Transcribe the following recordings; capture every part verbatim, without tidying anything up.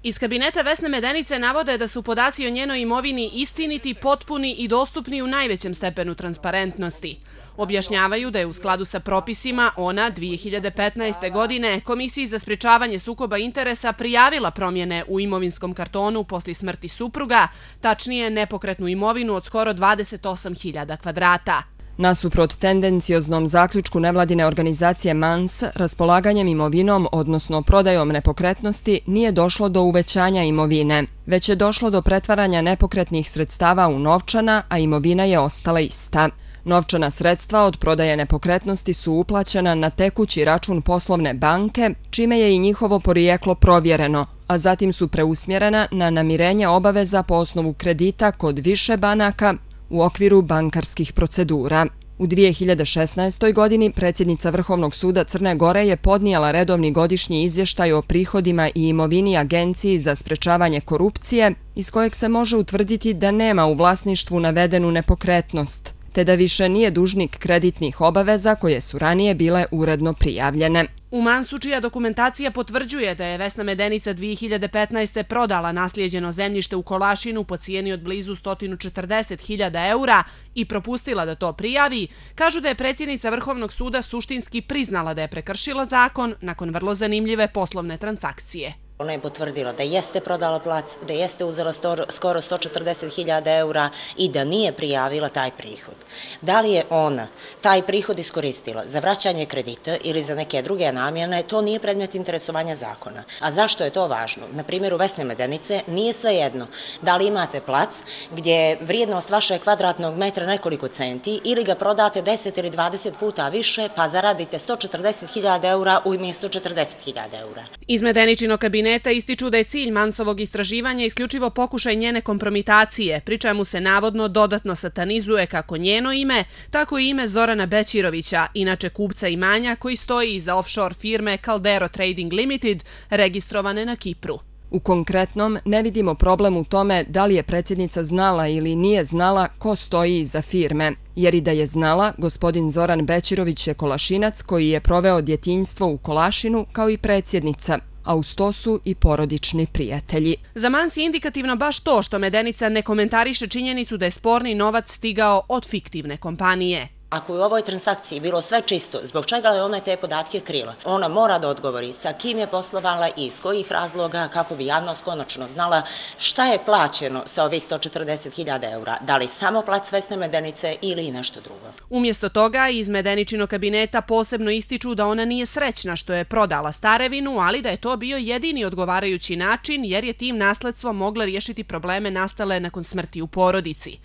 Iz kabineta Vesne Medenice navode da su podaci o njenoj imovini istiniti, potpuni i dostupni u najvećem stepenu transparentnosti. Objašnjavaju da je u skladu sa propisima ona dvije hiljade petnaeste. godine Komisiji za sprečavanje sukoba interesa prijavila promjene u imovinskom kartonu posle smrti supruga, tačnije nepokretnu imovinu od skoro dvadeset osam hiljada kvadrata. Nasuprot tendencioznom zaključku nevladine organizacije M A N S, raspolaganjem imovinom, odnosno prodajom nepokretnosti, nije došlo do uvećanja imovine, već je došlo do pretvaranja nepokretnih sredstava u novčana, a imovina je ostala ista. Novčana sredstva od prodaje nepokretnosti su uplaćena na tekući račun poslovne banke, čime je i njihovo porijeklo provjereno, a zatim su preusmjerena na namirenje obaveza po osnovu kredita kod više banaka u okviru bankarskih procedura. U dvije hiljade šesnaestoj. godini predsjednica Vrhovnog suda Crne Gore je podnijela redovni godišnji izvještaj o prihodima i imovini Agenciji za sprečavanje korupcije, iz kojeg se može utvrditi da nema u vlasništvu navedenu nepokretnost, te da više nije dužnik kreditnih obaveza koje su ranije bile uredno prijavljene. U M A N S-u čija dokumentacija potvrđuje da je Vesna Medenica dvije hiljade petnaeste. prodala naslijeđeno zemljište u Kolašinu po cijeni od blizu sto četrdeset hiljada eura i propustila da to prijavi, kažu da je predsjednica Vrhovnog suda suštinski priznala da je prekršila zakon nakon vrlo zanimljive poslovne transakcije. Ona je potvrdila da jeste prodala plac, da jeste uzela skoro sto četrdeset hiljada eura i da nije prijavila taj prihod. Da li je ona taj prihod iskoristila za vraćanje kredita ili za neke druge namjene, to nije predmet interesovanja zakona. A zašto je to važno? Na primjeru Vesne Medenice nije svejedno da li imate plac gdje je vrijednost vašeg kvadratnog metra nekoliko centi ili ga prodate deset ili dvadeset puta više pa zaradite sto četrdeset hiljada eura umjesto četrdeset hiljada eura. Iz Medeničinog kabineta ističu da je cilj M A N S-ovog istraživanja isključivo pokušaj njene kompromitacije, pri čemu se navodno dodatno satanizuje kako njeno ime, tako i ime Zorana Bećirovića, inače kupca imanja koji stoji iza offshore firme Caldero Trading Limited, registrovane na Kipru. U konkretnom, ne vidimo problem u tome da li je predsjednica znala ili nije znala ko stoji iza firme, jer i da je znala, gospodin Zoran Bećirović je Kolašinac koji je proveo djetinjstvo u Kolašinu kao i predsjednica, a uz to su i porodični prijatelji. Za M A N S je indikativno baš to što Medenica ne komentariše činjenicu da je sporni novac stigao od fiktivne kompanije. Ako je u ovoj transakciji bilo sve čisto, zbog čega je ona te podatke krila? Ona mora da odgovori sa kim je poslovala i iz kojih razloga kako bi javnost konačno znala šta je plaćeno sa ovih sto četrdeset hiljada eura. Da li samo plac Vesne Medenice ili i nešto drugo? Umjesto toga, iz Medeničinog kabineta posebno ističu da ona nije srećna što je prodala starevinu, ali da je to bio jedini odgovarajući način jer je tim nasledstvom mogla riješiti probleme nastale nakon smrti u porodici.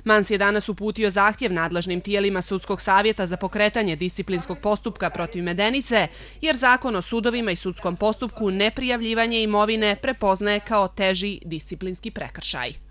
M A N S je danas uputio zahtjev nadležnim tijelima Sudskog savjeta za pokretanje disciplinskog postupka protiv Medenice, jer Zakon o sudovima i sudskom postupku neprijavljivanje imovine prepoznaje kao teži disciplinski prekršaj.